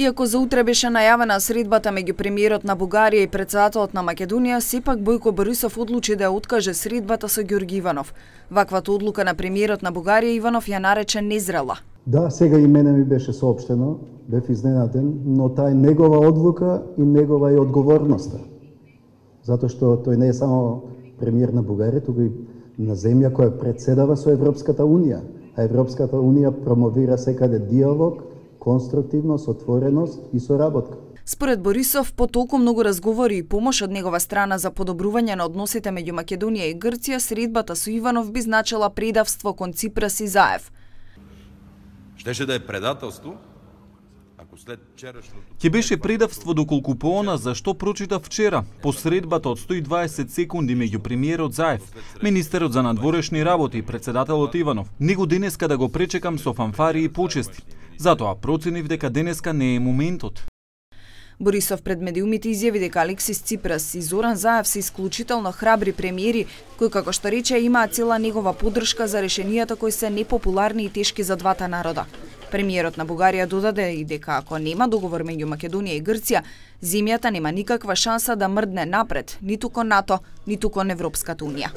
Иако за утре беше најавена средбата меѓу премиерот на Бугарија и претседателот на Македонија, сепак Бојко Борисов одлучи да ја откаже средбата со Ѓорѓи Иванов. Ваквата одлука на премиерот на Бугарија Иванов ја нарече незрела. Да, сега и мене ми беше соопштено, бев изненаден, но таа е негова одлука и негова е одговорноста. Затоа што тој не е само премиер на Бугарија, туку и на земја која претседава со Европската унија. А Европската унија промовира секаде диалог, конструктивност, отвореност и соработка. Според Борисов, по толку многу разговори и помош од негова страна за подобрување на односите меѓу Македонија и Грција, средбата со Иванов би значила предавство кон Ципрас и Заев. Штеше да е предателство, ако след вчерашното... Ќе беше предавство доколку по она за што прочита вчера, по средбата од 120 секунди меѓу премиерот Заев, министерот за надворешни работи и претседателот Иванов. Него денеска да го пречекам со фанфари и почести. Затоа проценив дека денеска не е моментот. Борисов пред медиумите изјави дека Алексис Ципрас и Зоран Заев се исклучително храбри премиери, кои, како што рече, имаат цела негова поддршка за решенијата кои се непопуларни и тешки за двата народа. Премиерот на Бугарија додаде и дека ако нема договор меѓу Македонија и Грција, земјата нема никаква шанса да мрдне напред, ниту кон НАТО, ниту кон Европската унија.